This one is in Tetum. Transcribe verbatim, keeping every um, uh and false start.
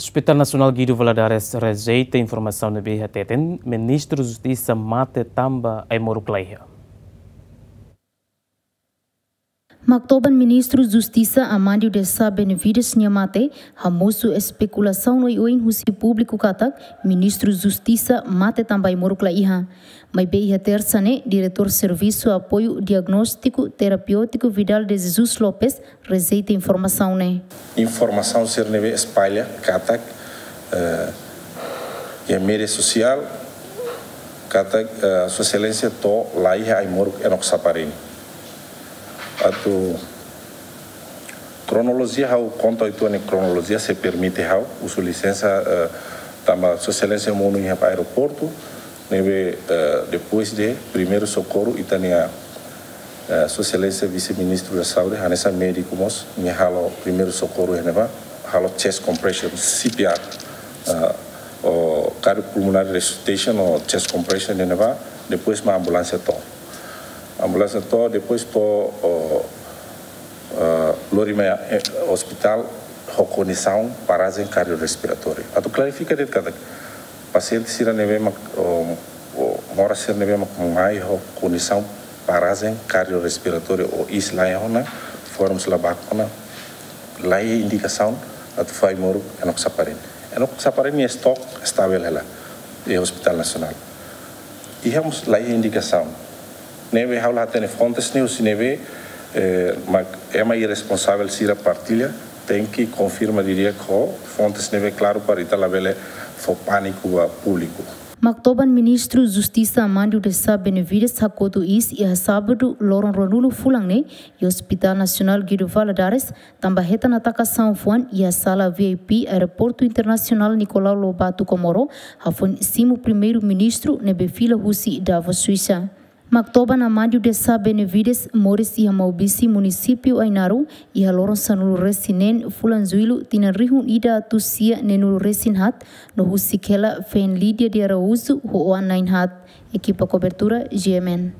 Hospital Nasionál Guido Valadares rejeita informasaun ne'ebé hateten Ministru Justisa mate tanba ai-moruk la iha. Maktoban Ministru Justisa Amandio de Sá Benevides nia mate hamosu espekulasaun oioin husi públiku katak Ministru Justisa mate tanba ai-moruk la iha. Maibé iha Tersa ne'e, Diretór Servisu Apoiu Diagnóstiku Terapéutiku Vidal de Jesus Lopes rejeita informasaun ne'e. Informasaun sira ne'ebé espalla katak, eh, iha média sosiál katak, eh, Sua Exelénsia to'o la iha ai-moruk Enock Saparini. Atu kronolojia ha'u konta uitoan kronolojia se permite ha'u, husu lisensa, eh, tanba Sua Exelénsia monu iha aeroportu, ne'ebé, eh, depois de primeiru sokorru ita-nia, eh, Sua Exelénsia Vise-Ministru da Saúde, hanesan médiku mós, nia halo primeiru sokorru iha ne'ebá, halo chest compression, C P R, eh, ou cardiopulmonary resuscitation ou chest compression iha ne'ebá, depois mak ambulánsia to'o. Ambulánsia to'o, depois to'o, o, eh, lori mai, eh, ospitál ho kondisaun parajen kardiorrespiratória. Atu klarifika de'it katak pasiente sira ne'ebé mak, o, o, moras sira ne'ebé mak mai ho kondisaun parajen kardiorrespiratória ou iis la iha ona, forms la baku ona, la iha indikasaun atu fó ai-moruk Enock Saparini. Enock Saparini nia stok estavel hela iha Hospital Nasionál. Iha mós la iha indikasaun. Ne'ebé ha'u la hatene fontes ne'e husi ne'ebé, eh, mak ema irresponsavel sira partilla, tenke konfirma didi'ak ho fontes ne'ebé klaru para ita labele fó pániku ba públiku. Maktoban Ministru Justisa Amandio de Sá Benevides hakotu iis iha Sábadu loron ruanulu fulan ne'e iha Hospital Nasionál Guido Valadares, tanba hetan atakasaun fuan iha sala V I P Aeroportu Internasionál Nicolau Lobato Comoro, hafoin simu Primeiru-Ministru ne'ebé fila husi Davos, Suisa. Maktoban Amandio de Sá Benevides moris iha Maubisse, munisípiu Ainaro, iha loron sanulu-resin-neen fulan Jullu tinan rihun ida atus sia neenulu-resin-haat, no husik hela feen Lídia de Araújo ho oan na'in-haat. Ekipa kobertura, G M N.